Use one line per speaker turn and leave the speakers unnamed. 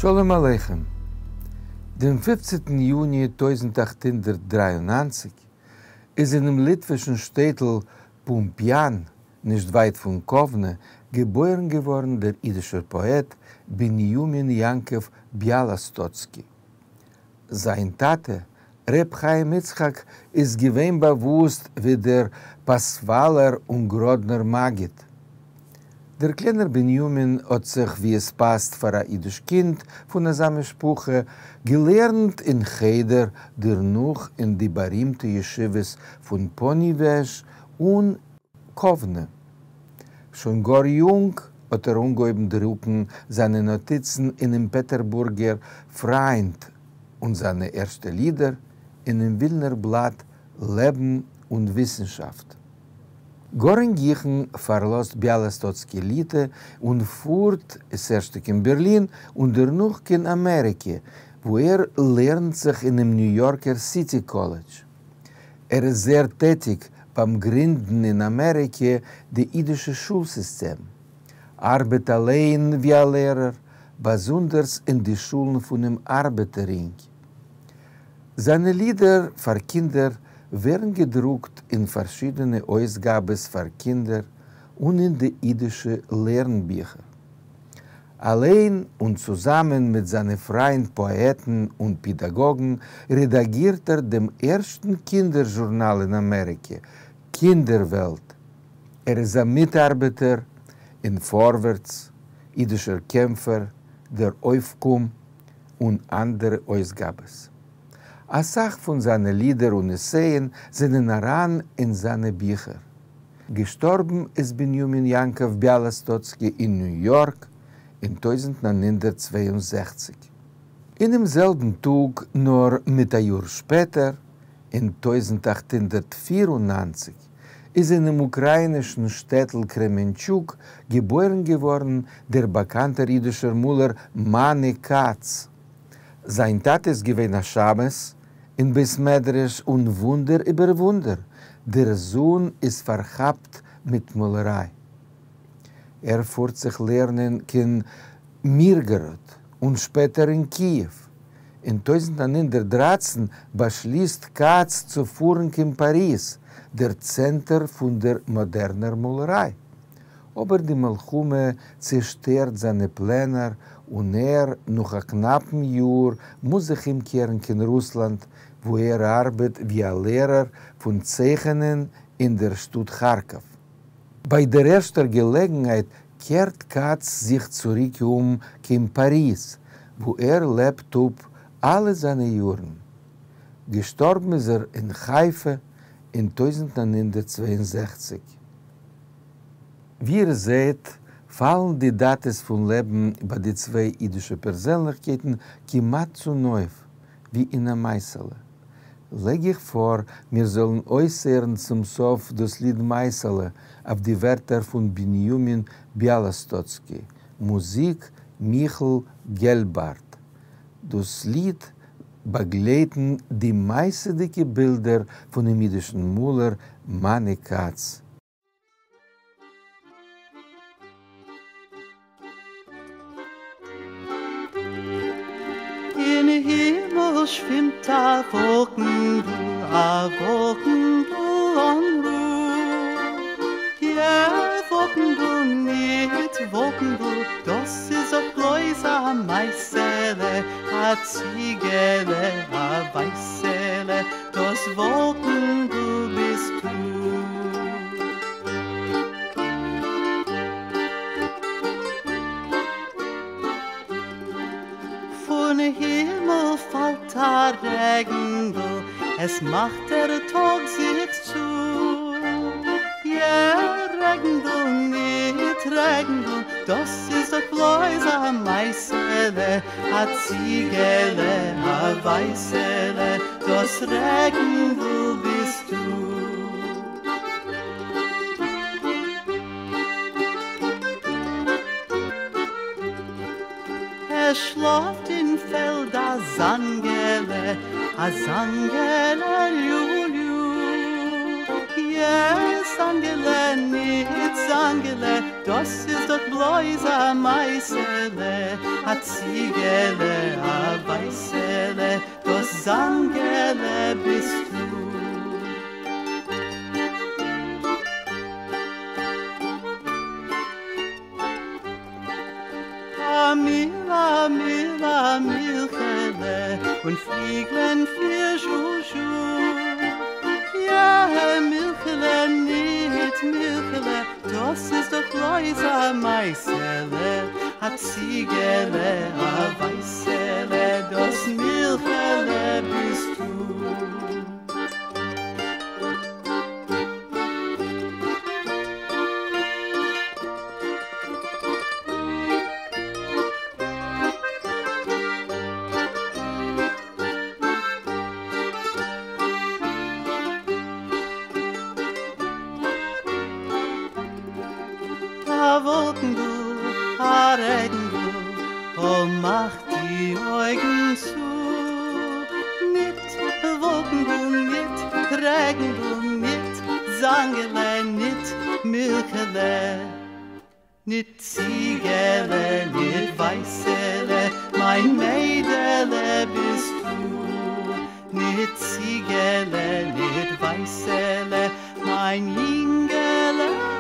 שלום עליכם. דעם פופצנטן יוני 1893 איז אינעם ליטווישן שטעטל פומפיאן, נישט ווייט פון קאוונע, געבוירן געווארן דער אידישער פאעט בנימין יעקב ביאלאסטאצקי. זיין טאטע, ר' חיים יצחק, איז געווען באוואוסט ווי דער פאסוואלער און גראדנער מגיד. דער קליינער בנימין האט זיך, ווי עס פאסט פאר א אידיש קינד פון אזא משפחה, געלערנט אין חדר, דערנאך אין די בארימטע ישיבות פון פאניוועזש און קאוונע. שוין גאר יונג האט ער אנגעהויבן דרוקן זיינע נאטיצן אינעם פעטערבורגער פריינד און זיינע ערשטע לידער אינעם ווילנער בלאט לעבן און וויסנשאפט. גאר אין גיכן פארלאזט ביאלאסטאצקי ליטע און פארט ס'ערשטע קיין בערלין און דערנאך קיין אמעריקע, וואו ער לערנט זיך אינעם ניו יארקער סיטי קאלעדזש. ער איז זייער טעטיג ביים גרינדן אין אמעריקע די אידישע שול סיסטעם. ארבעט אליין ווי א לערער, באזונדערס אין די שולן פונעם ארבעטער רינג. זיינע לידער פאר קינדער ווערן געדרוקט אין פארשידענע אויסגאבעס פאר קינדער און אין די אידישע לערנביכער. אליין און צוזאמען מיט זיינע פריינד פאעטן און פידאגאגן רעדאגירט ער דעם ערשטן קינדער זשורנאל אין אמעריקע, קינדער-וועלט. ער איז א מיטארבעטער אין פארווערטס, אידישער קעמפער, דער אויפקום און אנדערע אויסגאבעס. א סך פון זיינע לידער און עסייען זענען אריין אין זיינע ביכער. געשטארבן איז בנימין יעקב ביאלאסטאצקי אין ניו יארק אין 1962. אינעם זעלבן טאג, נאר מיט א יאר שפעטער, אין 1894, איז אינעם אוקראינישן שטעטל קרעמענטשוק געבוירן געווארן דער באקאנטער אידישער מאלער מאני כץ. זיין טאטע איז געווען א שמש אין בית מדרש און וואונדער איבער וואונדער, דער זון איז פארכאפט מיט מאלעריי. ער פארט זיך לערנען קיין מירגאראד און שפעטער אין קיעוו. אין 1913 באשליסט כץ צו פארן קיין פאריז, דער צענטער פון דער מאדערנער מאלעריי. אבער די מלחמה צעשטערט זיינע פלענער און ער, נאך א קנאפן יאר, מוז זיך אומקערן קיין רוסלאנד, וואו ער ארבעט ווי א לערער פון צייכענען אין דער שטאט כארקאוו. ביי דער ערשטער געלעגנהייט קערט כץ זיך צוריק אום קיין פאריז, וואו ער לעבט אפ אלע זיינע יארן. געשטארבן איז ער אין חיפה אין 1962. ווי איר זעט, פאלן די דאטעס פון לעבן ביי די צוויי אידישע פערזענליכקייטן כמעט צונויף, ווי אין א מעשה'לע. לייג איך פאר מיר זאלן אויסהערן צום סוף דאס ליד מעשה'לע אויף די ווערטער פון בנימין ביאלאסטאצקי, מוזיק מיכל געלבארט. דאס ליד באגלייטן די מעשה'דיגע בילדער פונעם אידישן מאלער מאני כץ.
אין הימל שווימט א וואלקנדל, א וואלקנדל אן רו. יע, וואלקנדל ניט וואלקנדל, דאס איז דאך בלויז א מעשה'לע, א ציגעלע, א ווייסעלע, דאס וואלקנדל ביסטו. פון הימל פאלט א רעגנדל, עס מאכט דער טאג זיך צו. יע, רעגנדל, ניט רעגנדל, דאס איז דאך בלויז א מעשה'לע, א ציגעלע, א ווייסעלע, דאס רעגנדל ביסטו. עס שלאפט אין פעלד א זאנגעלע, א זאנגעלע ליו-ליו. יע, זאנגעלע, ניט זאנגעלע, דאס איז דאך. בלויז א מייסעלע, א ציגעלע, א ווייסעלע, דאס זאנגעלע ביסטו. א מיל, א מיל, א מילכעלע, און פליגלען פיר זשו-זשו. יע, מילכעלע, ניט מילכעלע, דאס איז דאך בלויז א מייסעלע, א ציגעלע, א ווייסעלע, דאס מילכעלע ביסטו. א וואלקנדל, א רעגנדל, או מאך די אויגן צו. ניט וואלקנדל, ניט רעגנדל, ניט זאנגעלע, ניט מילכעלע, ניט ציגעלע, ניט ווייסעלע, מיין מיידעלע ביסטו. ניט ציגעלע, ניט ווייסעלע, מיין יינגעלע.